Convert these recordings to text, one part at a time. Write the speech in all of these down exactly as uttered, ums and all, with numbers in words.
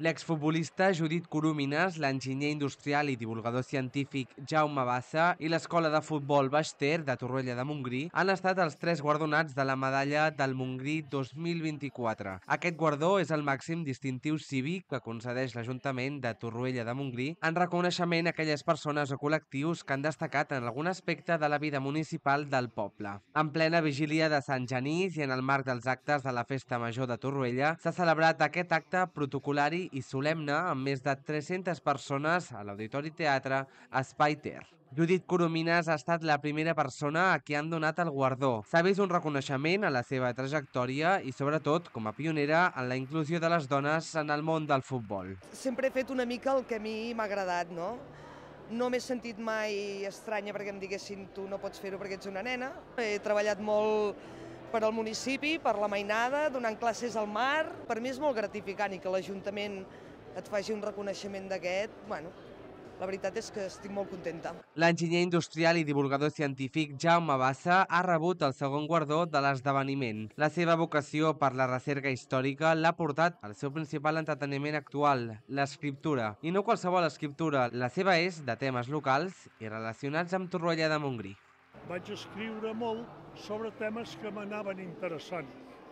L'exfutbolista Judit Coromines, l'enginyer industrial i divulgador científic Jaume Bassa i l'escola de futbol Baix Ter de Torroella de Montgrí han estat els tres guardonats de la medalla del Montgrí dos mil vint-i-quatre. Aquest guardó és el màxim distintiu cívic que concedeix l'Ajuntament de Torroella de Montgrí en reconeixement a aquelles persones o col·lectius que han destacat en algun aspecte de la vida municipal del poble. En plena vigília de Sant Genís i en el marc dels actes de la Festa Major de Torroella s'ha celebrat aquest acte protocolari i solemne amb més de tres-centes persones a l'Auditori Teatre Espai Ter. Judit Coromines ha estat la primera persona a qui han donat el guardó. S'ha vist un reconeixement a la seva trajectòria i, sobretot, com a pionera en la inclusió de les dones en el món del futbol. Sempre he fet una mica el que a mi m'ha agradat, no? No m'he sentit mai estranya perquè em diguessin tu no pots fer-ho perquè ets una nena. He treballat molt per al municipi, per la mainada, donant classes al mar. Per mi és molt gratificant i que l'Ajuntament et faci un reconeixement d'aquest, bueno, la veritat és que estic molt contenta. L'enginyer industrial i divulgador científic Jaume Bassa ha rebut el segon guardó de l'esdeveniment. La seva vocació per la recerca històrica l'ha portat al seu principal entreteniment actual, l'escriptura. I no qualsevol escriptura, la seva és de temes locals i relacionats amb Torroella de Montgrí. Vaig escriure molt sobre temes que m'anaven interessant.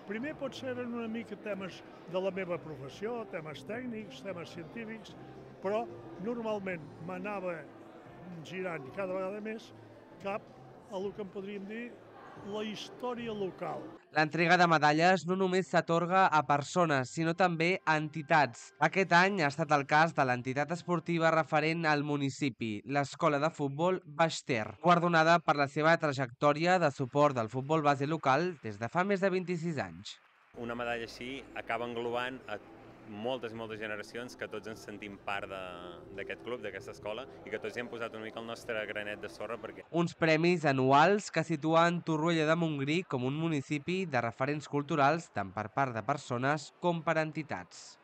Primer potser eren una mica temes de la meva professió, temes tècnics, temes científics, però normalment m'anava girant cada vegada més cap a el que en podríem dir la història local. L'entrega de medalles no només s'atorga a persones, sinó també a entitats. Aquest any ha estat el cas de l'entitat esportiva referent al municipi, l'Escola de Futbol Baix Ter, guardonada per la seva trajectòria de suport del futbol base local des de fa més de vint-i-sis anys. Una medalla així acaba englobant a moltes i moltes generacions que tots ens sentim part d'aquest club, d'aquesta escola, i que tots hi hem posat una mica el nostre granet de sorra perquè... Uns premis anuals que situen Torroella de Montgrí com un municipi de referents culturals tant per part de persones com per entitats.